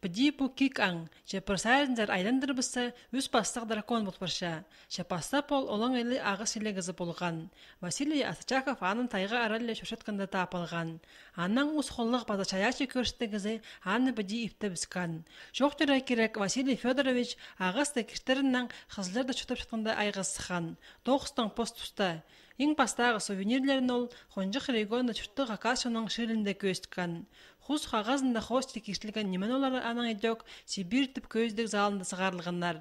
Бди бу кик аң, же просайзындар айландыр бісі үз бастық дракон бұлпырша. Же пастап ол олың елі ағыс елі гызы болған. Василий Асачаков анын тайға аралле шошытканда тапылған. Анның ұз қоллық база чаячы көрсті гызы аны бди ипті біскан. Жоқ түрі керек Василий Федорович ағысты кіштеріннің қызларды чүтіп шытқанда айғызсыған. Тоғыстың пост тұста. Ең пастағы сувенирлерін ол қонжық регионда чүтті қақасының шырында көстікан. Хус қағазында хосты кешілген немен олары аның едек Сибир тіп көздік залында сығарылғандар.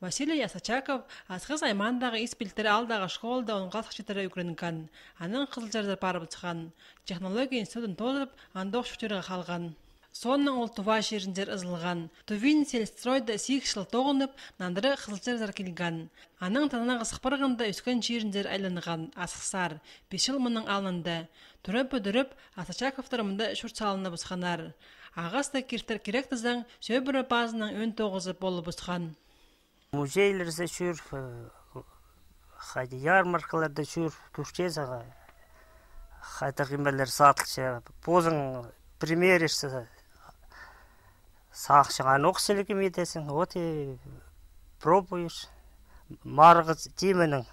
Василий Асачаков асқыз аймандағы испилтері алдағы школда онға сақшетері үкірінген. Аның қызылжардар пары бұтқан. Технология институтын тозып, андоқ шүтеріға қалған. Сонның ол туva жеріндер ызылған. Тувин селстройда 8 жыл тоғынып, нандыры қызылжардар келген. Аның танына қысықпырғында өскен жеріндер айланған, асықсар, 5 жыл мұның алынды. Түріп-өдіріп, Асачаковтарымында шүрт салыны бұсқанар. Ағаста кертер керек тіздің сөйбірі базының өн тоғызы болы бұсқан. Музейлерде жүр, ярмаркаларда жүр, күштезіға. Қайта қимелер сатылшы, позың примеришься, сақшыған оқсылығы медесің, вот и пробуешь. Марғы тименің,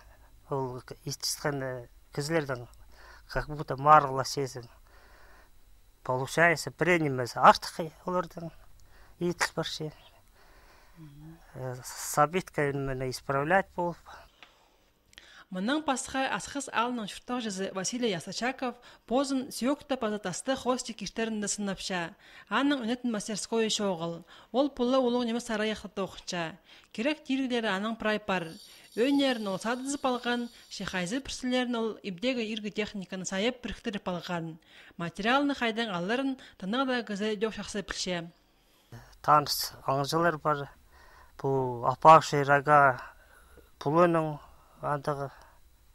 ол истіскен кізлердің, как будто марғыла сезің. Получается, принимается артықы олардың, етіл баршы. Сабитка мені исправлять болып. Мұның пасқа асқыз алының шүрттақ жүзі Василий Асачаков позын сүйекті пазатасты хости кештерінде сынапша. Аның үнетін мастерской шоғыл. Ол пұлы олың немес сараяқтықты оқытша. Керек тиргілері аның прайпар. Өнерін ол садызып алған, шехайзы пірсілерін ол ибдегі иргі техниканы сайып біріктіріп алған. Материалыны қайдан алырын тынығда гізі дөк шақсы пілше. Таныс аңжылар бар. Бұл апақ шайраға пұлының андығы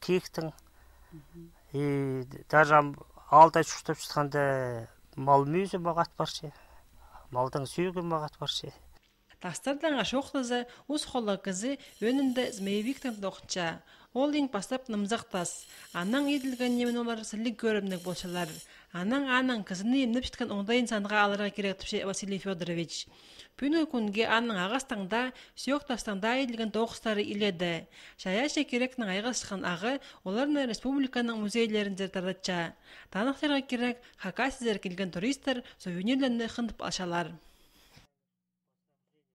киіктің. И даже алда шүртіп шытқанда мал мүйізі мағат баршы. Малдың сүйігі мағат баршы. Тастардан ашоқтызы ұз қолы кізі өнінді змейвиктің доқытша. Ол ең бастап нымзақтас. Аның еділген немен олар сілік көрімдік болшалар. Аның кізіні емніп шеткен оңдайын санға алырға керек түпше Василий Федорович. Пүні күнге аның ағастаңда, сүйоқтастаңда еділген тоғыстары иледі. Шаяшы керектің айғас шыққан ағы оларны республиканың музейлерінде таратша. Танықтарға керек хакасызер келген туристер сувенирлерді қындып алшалар.